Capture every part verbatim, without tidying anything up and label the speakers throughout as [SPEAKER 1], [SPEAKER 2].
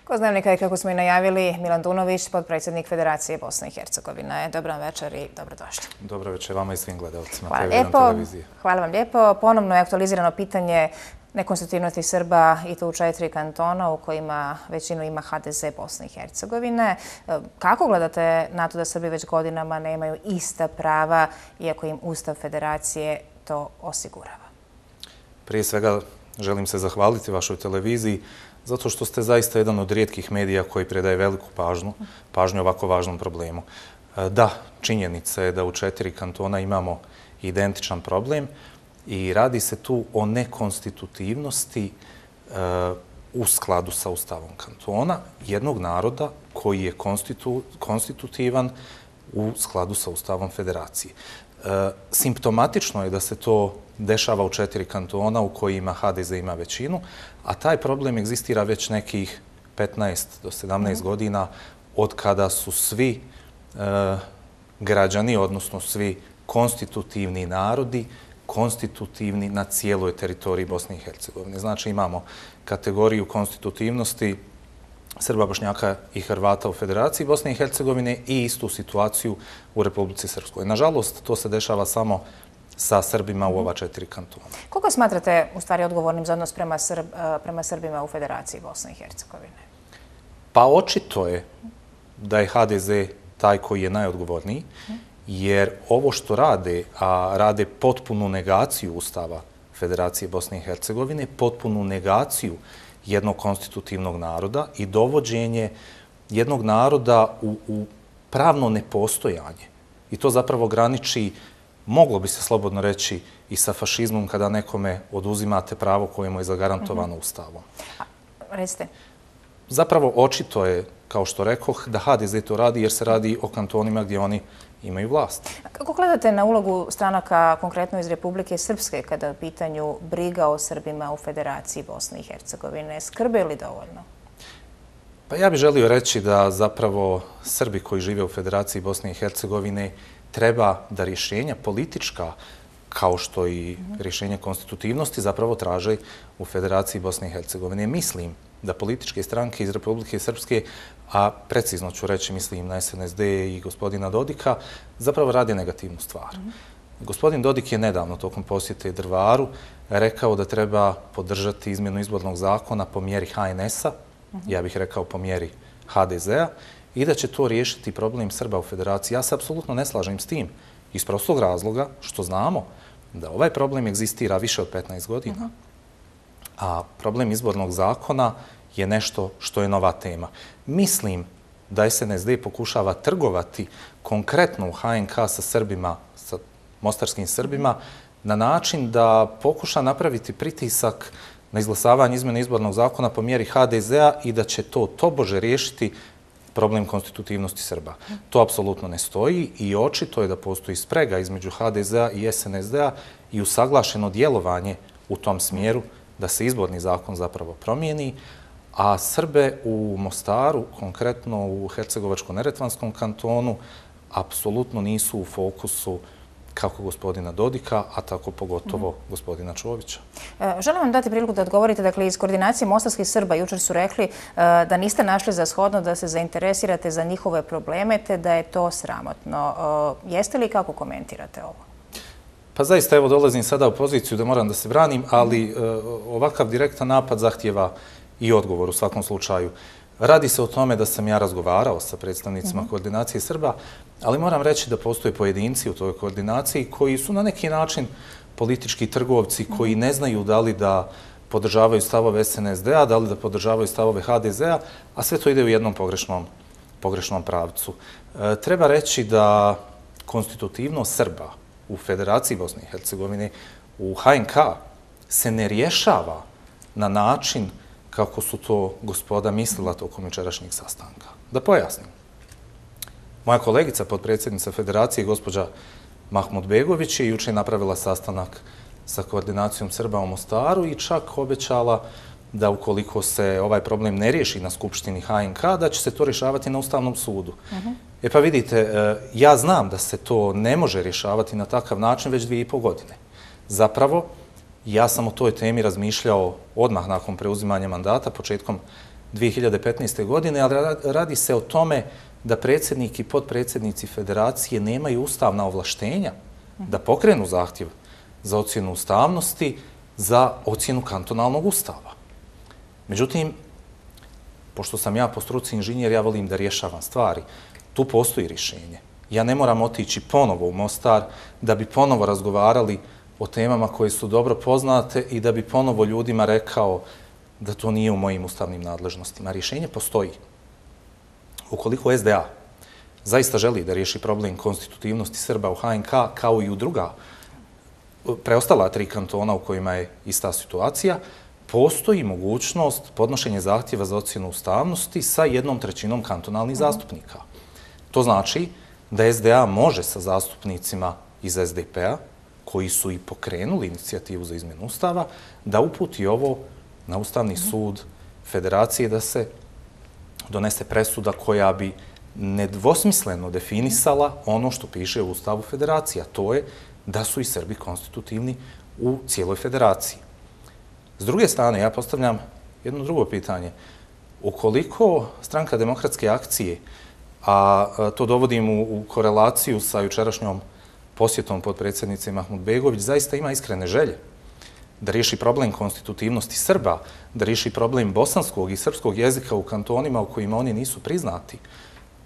[SPEAKER 1] Gost Dnevnika je, kako smo i najavili, Milan Dunović, potpredsjednik Federacije Bosne i Hercegovine. Dobar večer i dobrodošli.
[SPEAKER 2] Dobro večer vama i svim gledalcima
[SPEAKER 1] Hvala lijepo. Hvala vam lijepo. Ponovno je aktualizirano pitanje nekonstitutivnosti Srba i to u četiri kantona u kojima većinu ima ha de ze Bosne i Hercegovine. Kako gledate na to da Srbi već godinama nemaju ista prava, iako im Ustav Federacije to osigurava?
[SPEAKER 2] Prije svega želim se zahvaliti vašoj televiziji zato što ste zaista jedan od rijetkih medija koji predaje veliku pažnju, pažnju ovako važnom problemu. Da, činjenica je da u četiri kantona imamo identičan problem i radi se tu o nekonstitutivnosti u skladu sa Ustavom kantona jednog naroda koji je konstitutivan u skladu sa Ustavom Federacije. Simptomatično je da se to dešava u četiri kantona u kojima ha de ze ima većinu, a taj problem egzistira već nekih petnaest do sedamnaest godina od kada su svi građani, odnosno svi konstitutivni narodi, konstitutivni na cijeloj teritoriji Bosne i Hercegovine. Znači imamo kategoriju konstitutivnosti Srba, Bošnjaka i Hrvata u Federaciji Bosne i Hercegovine i istu situaciju u Republici Srpskoj. Nažalost, to se dešava samo sa Srbima u ova četiri kantona.
[SPEAKER 1] Koga smatrate u stvari odgovornim za odnos prema, Srb, prema Srbima u Federaciji Bosne i Hercegovine?
[SPEAKER 2] Pa očito je da je ha de ze taj koji je najodgovorniji, jer ovo što rade, a rade potpunu negaciju Ustava Federacije Bosne i Hercegovine, potpunu negaciju jednog konstitutivnog naroda i dovođenje jednog naroda u, u pravno nepostojanje. I to zapravo graniči, moglo bi se slobodno reći, i sa fašizmom kada nekome oduzimate pravo koje mu je zagarantovano Ustavom.
[SPEAKER 1] Recite.
[SPEAKER 2] Zapravo očito je, kao što rekoh, da ha de ze to radi jer se radi o kantonima gdje oni imaju vlast.
[SPEAKER 1] Kako gledate na ulogu stranaka konkretno iz Republike Srpske kada je u pitanju briga o Srbima u Federaciji Bosne i Hercegovine? Skrbe li dovoljno?
[SPEAKER 2] Pa ja bih želio reći da zapravo Srbi koji žive u Federaciji Bosne i Hercegovine treba da rješenja politička, kao što i rješenje konstitutivnosti, zapravo traže u Federaciji Bosne i Hercegovine. Mislim da političke stranke iz Republike Srpske, a precizno ću reći, mislim na es en es de i gospodina Dodika, zapravo rade negativnu stvar. Gospodin Dodik je nedavno tokom posjete Drvaru rekao da treba podržati izmjenu izbornog zakona po mjeri ha en es a, ja bih rekao po mjeri ha de ze a, i da će to riješiti problem Srba u Federaciji. Ja se apsolutno ne slažem s tim, iz prostog razloga što znamo da ovaj problem egzistira više od petnaest godina. A problem izbornog zakona je nešto što je nova tema. Mislim da es en es de pokušava trgovati konkretno u ha en ka sa Srbima, sa mostarskim Srbima, na način da pokuša napraviti pritisak na izglasavanje izmjene izbornog zakona po mjeri ha de ze a i da će to tobože riješiti problem konstitutivnosti Srba. To apsolutno ne stoji i očito je da postoji sprega između ha de ze a i es en es de a i usaglašeno djelovanje u tom smjeru da se izborni zakon zapravo promijeni, a Srbe u Mostaru, konkretno u Hercegovačko-neretvanskom kantonu, apsolutno nisu u fokusu kako gospodina Dodika, a tako pogotovo gospodina Čovića.
[SPEAKER 1] Želim vam dati priliku da odgovorite. Dakle, iz koordinacije mostarskih Srba jučer su rekli da niste našli za shodno da se zainteresirate za njihove probleme, te da je to sramotno. Jeste li, kako komentirate ovo?
[SPEAKER 2] Pa zaista, evo, dolazim sada u poziciju da moram da se branim, ali ovakav direktan napad zahtjeva i odgovor u svakom slučaju. Radi se o tome da sam ja razgovarao sa predstavnicima koordinacije Srba, ali moram reći da postoje pojedinci u toj koordinaciji koji su na neki način politički trgovci koji ne znaju da li da podržavaju stavove es en es de a, da li da podržavaju stavove ha de ze a, a sve to ide u jednom pogrešnom, pogrešnom pravcu. E, treba reći da konstitutivnost Srba u Federaciji Bosne i Hercegovine, u ha en ka, se ne rješava na način kako su to gospoda mislila tokom jučerašnjeg sastanka. Da pojasnim. Moja kolegica, potpredsjednica Federacije, gospođa Mahmudbegović, je juče napravila sastanak sa koordinacijom Srba u Mostaru i čak obećala da ukoliko se ovaj problem ne riješi na Skupštini ha en ka, da će se to rješavati na Ustavnom sudu. E pa vidite, ja znam da se to ne može rješavati na takav način već dvije i pol godine. Zapravo, ja sam o toj temi razmišljao odmah nakon preuzimanja mandata, početkom dvije hiljade petnaeste. godine, ali radi se o tome da predsjednik i potpredsjednici federacije nemaju ustavna ovlaštenja da pokrenu zahtjev za ocjenu ustavnosti za ocjenu kantonalnog ustava. Međutim, pošto sam ja po struci inženjer, ja volim da rješavam stvari. Tu postoji rješenje. Ja ne moram otići ponovo u Mostar da bi ponovo razgovarali o temama koje su dobro poznate i da bi ponovo ljudima rekao da to nije u mojim ustavnim nadležnostima. Rješenje postoji. Ukoliko S D A zaista želi da riješi problem konstitutivnosti Srba u H N K, kao i u druga preostala tri kantona u kojima je ista situacija, postoji mogućnost podnošenja zahtjeva za ocjenu ustavnosti sa jednom trećinom kantonalnih zastupnika. To znači da S D A može sa zastupnicima iz S D P-a, koji su i pokrenuli inicijativu za izmjenu ustava, da uputi ovo na Ustavni sud Federacije da se donese presuda koja bi nedvosmisleno definisala ono što piše u Ustavu Federacije, a to je da su i Srbi konstitutivni u cijeloj federaciji. S druge strane, ja postavljam jedno drugo pitanje. Ukoliko Stranka demokratske akcije, a to dovodim u korelaciju sa jučerašnjom posjetom potpredsjednice Mahmudbegović, zaista ima iskrene želje da riješi problem konstitutivnosti Srba, da riješi problem bosanskog i srpskog jezika u kantonima u kojima oni nisu priznati,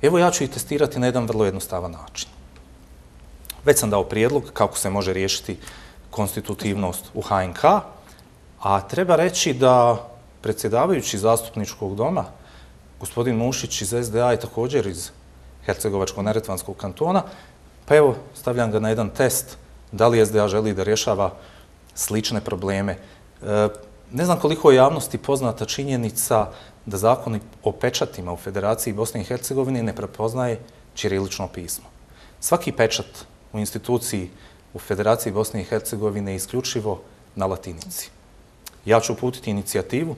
[SPEAKER 2] evo ja ću ih testirati na jedan vrlo jednostavan način. Već sam dao prijedlog kako se može riješiti konstitutivnost u H N K, a treba reći da predsjedavajući zastupničkog doma, gospodin Mušić iz S D A je također iz Hercegovačko-neretvanskog kantona, pa evo stavljam ga na jedan test da li S D A želi da rješava slične probleme. Ne znam koliko je javnosti poznata činjenica da zakon o pečatima u Federaciji Bosne i Hercegovine ne prepoznaje ćirilično pismo. Svaki pečat u instituciji u Federaciji Bosne i Hercegovine je isključivo na latinici. Ja ću uputiti inicijativu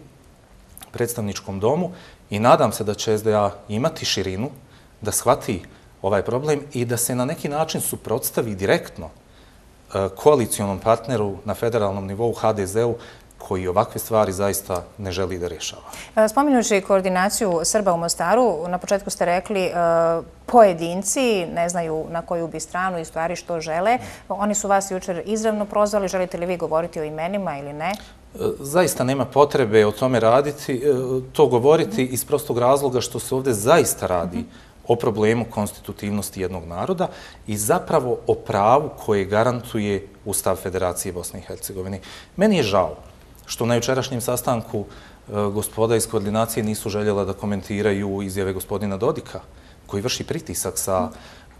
[SPEAKER 2] predstavničkom domu i nadam se da će S D A imati širinu da shvati ovaj problem i da se na neki način suprotstavi direktno koalicionom partneru na federalnom nivou H D Z-u koji ovakve stvari zaista ne želi da rješava.
[SPEAKER 1] Spominjući koordinaciju Srba u Mostaru, na početku ste rekli pojedinci ne znaju na koju bi stranu i stvari što žele. Oni su vas jučer izravno prozvali. Želite li vi govoriti o imenima ili ne?
[SPEAKER 2] Zaista nema potrebe o tome raditi, to govoriti iz prostog razloga što se ovdje zaista radi o problemu konstitutivnosti jednog naroda i zapravo o pravu koje garantuje Ustav Federacije Bosne i Hercegovine. Meni je žao što na jučerašnjem sastanku gospoda iz koordinacije nisu željela da komentiraju izjave gospodina Dodika, koji vrši pritisak sa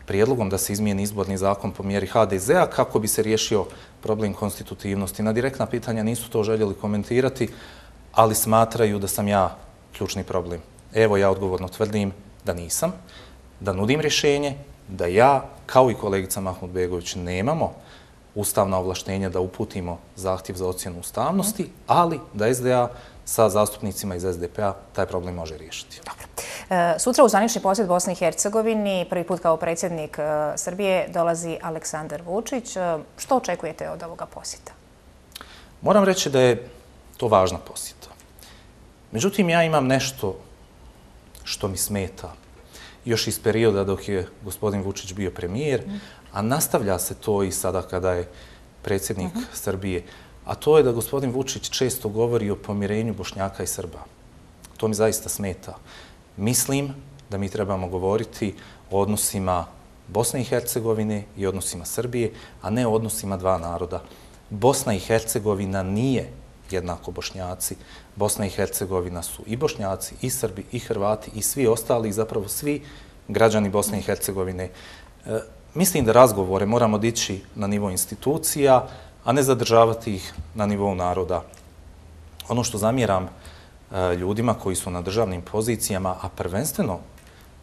[SPEAKER 2] prijedlogom da se izmijeni izborni zakon po mjeri H D Z-a kako bi se riješio problem konstitutivnosti. Na direktna pitanja nisu to željeli komentirati, ali smatraju da sam ja ključni problem. Evo, ja odgovorno tvrdim da nisam, da nudim rješenje, da ja, kao i kolegica Mahmudbegović, nemamo ustavna ovlaštenja da uputimo zahtjev za ocjenu ustavnosti, ali da S D A sa zastupnicima iz S D P-a taj problem može riješiti.
[SPEAKER 1] Dobro. Sutra u zvanični posjet Bosni i Hercegovini, prvi put kao predsjednik Srbije, dolazi Aleksandar Vučić. Što očekujete od ovoga posjeta?
[SPEAKER 2] Moram reći da je to važna posjeta. Međutim, ja imam nešto što mi smeta još iz perioda dok je gospodin Vučić bio premijer, a nastavlja se to i sada kada je predsjednik Srbije, a to je da gospodin Vučić često govori o pomirenju Bošnjaka i Srba. To mi zaista smeta. Mislim da mi trebamo govoriti o odnosima Bosne i Hercegovine i odnosima Srbije, a ne o odnosima dva naroda. Bosna i Hercegovina nije jednako Bošnjaci. Bosna i Hercegovina su i Bošnjaci, i Srbi, i Hrvati, i svi ostali, zapravo svi građani Bosne i Hercegovine. Mislim da razgovore moramo dići na nivo institucija, a ne zadržavati ih na nivou naroda. Ono što zamjeram ljudima koji su na državnim pozicijama, a prvenstveno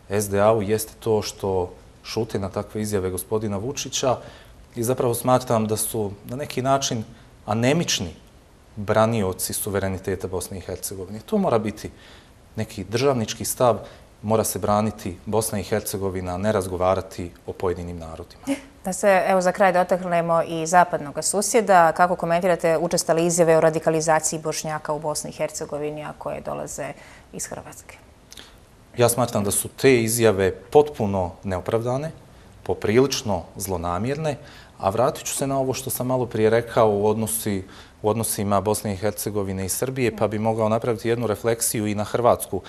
[SPEAKER 2] S D A-u, jeste to što šute na takve izjave gospodina Vučića i zapravo smatram da su na neki način anemični branioci suvereniteta Bosne i Hercegovine. To mora biti neki državnički stav, mora se braniti Bosna i Hercegovina, a ne razgovarati o pojedinim narodima.
[SPEAKER 1] Da se, evo, za kraj dotaknemo i zapadnog susjeda. Kako komentirate učestale izjave o radikalizaciji Bošnjaka u Bosni i Hercegovini, a koje dolaze iz Hrvatske?
[SPEAKER 2] Ja smatram da su te izjave potpuno neopravdane, poprilično zlonamjerne, a vratit ću se na ovo što sam malo prije rekao u, odnosi, u odnosima Bosne i Hercegovine i Srbije, pa bi mogao napraviti jednu refleksiju i na Hrvatsku.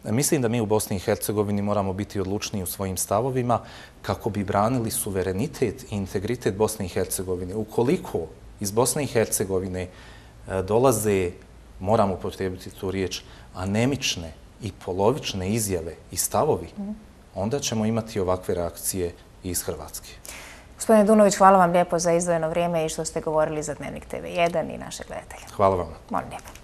[SPEAKER 2] Mislim da mi u Bosni i Hercegovini moramo biti odlučniji u svojim stavovima kako bi branili suverenitet i integritet Bosne i Hercegovine. Ukoliko iz Bosne i Hercegovine dolaze, moramo upotrijebiti tu riječ, anemične i polovične izjave i stavovi, onda ćemo imati ovakve reakcije i iz Hrvatske.
[SPEAKER 1] Gospodine Dunović, hvala vam lijepo za izdvojeno vrijeme i što ste govorili za Dnevnik te ve jedan i naše gledatelje.
[SPEAKER 2] Hvala vam.
[SPEAKER 1] Molim lijepo.